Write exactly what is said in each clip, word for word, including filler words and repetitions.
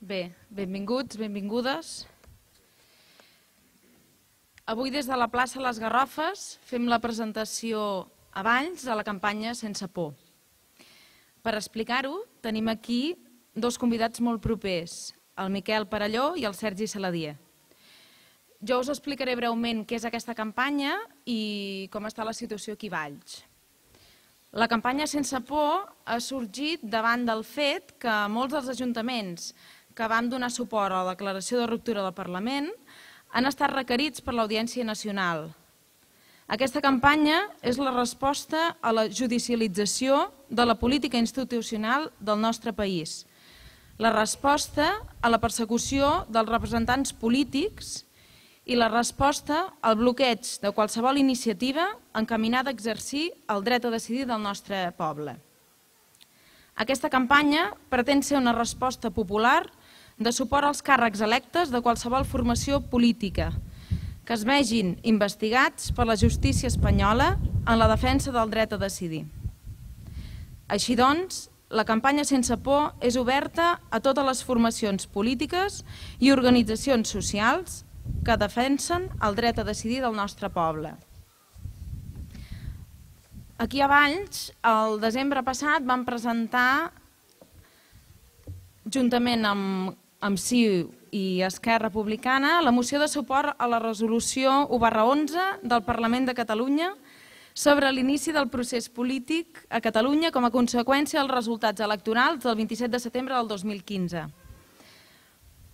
Bé, benvinguts, benvingudes. Avui des de la plaça Les Garrofes fem la presentació a Valls de la campanya Sense por. Per explicar-ho tenim aquí dos convidats molt propers, el Miquel Perelló i el Sergi Saladier. Jo us explicaré breument què és aquesta campanya i com està la situació aquí a Valls. La campanya Sense por ha sorgit davant del fet que molts dels ajuntaments que vam donar suport a la declaració de ruptura del Parlament han estat requerits per l'Audiència Nacional. Aquesta campanya és la resposta a la judicialització de la política institucional del nostre país, la resposta a la persecució dels representants polítics i la resposta al bloqueig de qualsevol iniciativa encaminada a exercir el dret a decidir del nostre poble. Aquesta campanya pretén ser una resposta popular de suport als càrrecs electes de qualsevol formació política que es vegin investigats per la justícia espanyola en la defensa del dret a decidir. Així doncs, la campanya Sense por és oberta a totes les formacions polítiques i organitzacions socials que defensen el dret a decidir del nostre poble. Aquí a Valls, el desembre passat, vam presentar, juntament amb, amb C I U i Esquerra Republicana, la moció de suport a la resolució u barra onze del Parlament de Catalunya sobre l'inici del procés polític a Catalunya com a conseqüència dels resultats electorals del vint-i-set de setembre del dos mil quinze.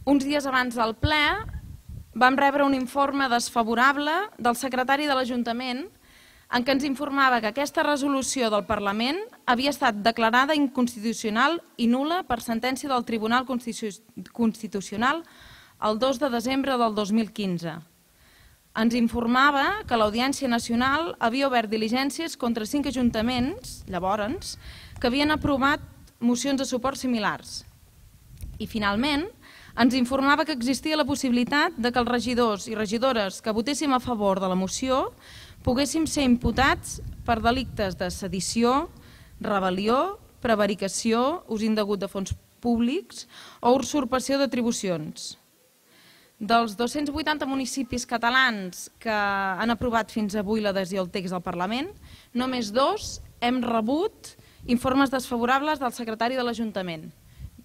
Uns dies abans del ple, vam rebre un informe desfavorable del secretari de l'Ajuntament en què ens informava que aquesta resolució del Parlament havia estat declarada inconstitucional i nul·la per sentència del Tribunal Constitucional el dos de desembre del dos mil quinze. Ens informava que l'Audiència Nacional havia obert diligències contra cinc ajuntaments, llavors, que havien aprovat mocions de suport similars. I finalment, ens informava que existia la possibilitat de que els regidors i regidores que votéssim a favor de la moció poguéssim ser imputats per delictes de sedició, rebel·lió, prevaricació, ús indegut de fons públics o usurpació d'atribucions. Dels dos-cents vuitanta municipis catalans que han aprovat fins avui l'adhesió al text del Parlament, només dos hem rebut informes desfavorables del secretari de l'Ajuntament,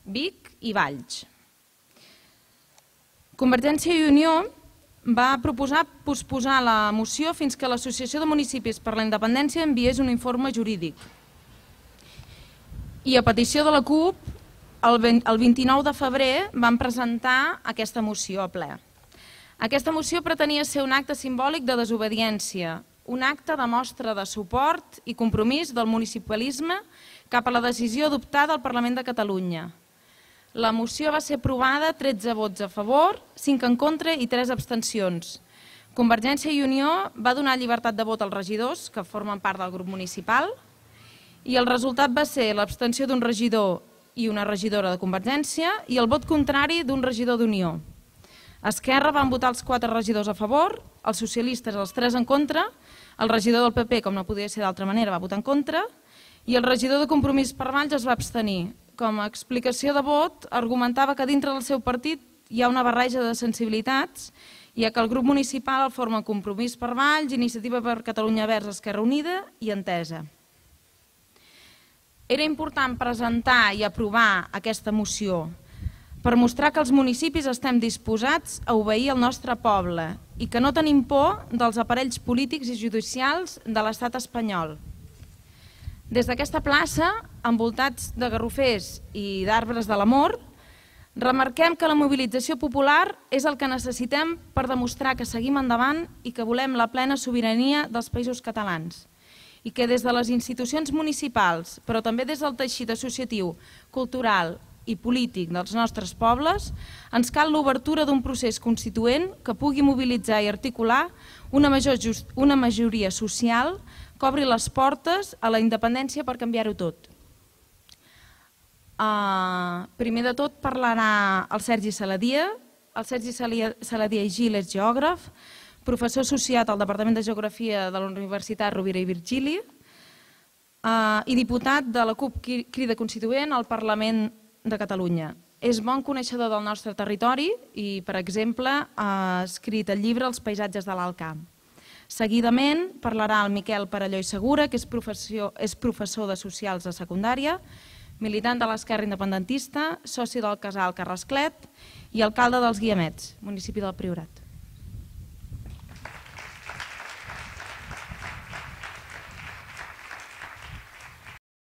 Vic i Valls. Convergència i Unió va proposar posposar la moció fins que l'Associació de Municipis per la Independència enviés un informe jurídic. I a petició de la CUP, el vint-i-nou de febrer vam presentar aquesta moció a ple. Aquesta moció pretenia ser un acte simbòlic de desobediència, un acte de mostra de suport i compromís del municipalisme cap a la decisió adoptada al Parlament de Catalunya. La moció va ser aprovada, tretze vots a favor, cinc en contra i tres abstencions. Convergència i Unió va donar llibertat de vot als regidors, que formen part del grup municipal, i el resultat va ser l'abstenció d'un regidor i una regidora de Convergència i el vot contrari d'un regidor d'Unió. Esquerra van votar els quatre regidors a favor, els socialistes els tres en contra, el regidor del P P, com no podia ser d'altra manera, va votar en contra, i el regidor de Compromís per Valls es va abstenir. Com a explicació de vot, argumentava que dintre del seu partit hi ha una barreja de sensibilitats, ja que el grup municipal el forma Compromís per Valls, Iniciativa per Catalunya Verds, Esquerra Unida i Entesa. Era important presentar i aprovar aquesta moció per mostrar que els municipis estem disposats a obeir el nostre poble i que no tenim por dels aparells polítics i judicials de l'estat espanyol. Des d'aquesta plaça, envoltats de garrofers i d'arbres de l'amor, remarquem que la mobilització popular és el que necessitem per demostrar que seguim endavant i que volem la plena sobirania dels països catalans i que des de les institucions municipals, però també des del teixit associatiu, cultural i polític dels nostres pobles, ens cal l'obertura d'un procés constituent que pugui mobilitzar i articular una majoria social que obri les portes a la independència per canviar-ho tot. Primer de tot parlarà el Sergi Saladier. El Sergi Saladier i Gil és geògraf, professor associat al Departament de Geografia de la Universitat Rovira i Virgili i diputat de la CUP Crida Constituent al Parlament de Catalunya. És bon coneixedor del nostre territori i, per exemple, ha escrit el llibre Els paisatges de l'Alt Camp. Seguidament parlarà el Miquel Perelló i Segura, que és professor de Socials de secundària, militant de l'Esquerra Independentista, soci del Casal Carrasclet i alcalde dels Guiamets, municipi del Priorat.